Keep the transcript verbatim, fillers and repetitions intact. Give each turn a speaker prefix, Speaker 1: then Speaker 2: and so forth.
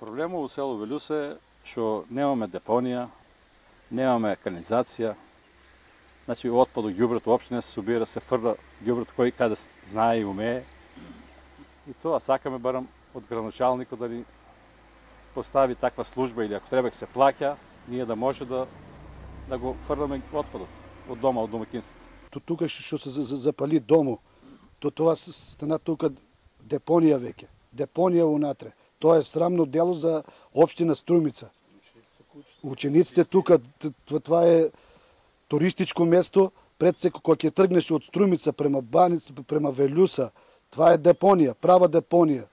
Speaker 1: Проблемот во село Велјуса е што немаме депонија, немаме канализација. Значи отпад од ѓубрето опште не се собира, се фрла ѓубрето кој каде знае и умее. И тоа сакаме барам од градоначалникот да ни постави таква служба или ако треба ќе се плаќа, ние да може да да го фрламе отпадот од дома, од домаќинството.
Speaker 2: Тука што се запали домо, то тоа стана тука депонија веќе. Депонија унатре. Тоа е срамно дело за општина Струмица. Учениците тука, тоа е туристичко место, пред се кога ќе тргнеш од Струмица према Баница, према Велјуса, тоа е депонија, права депонија.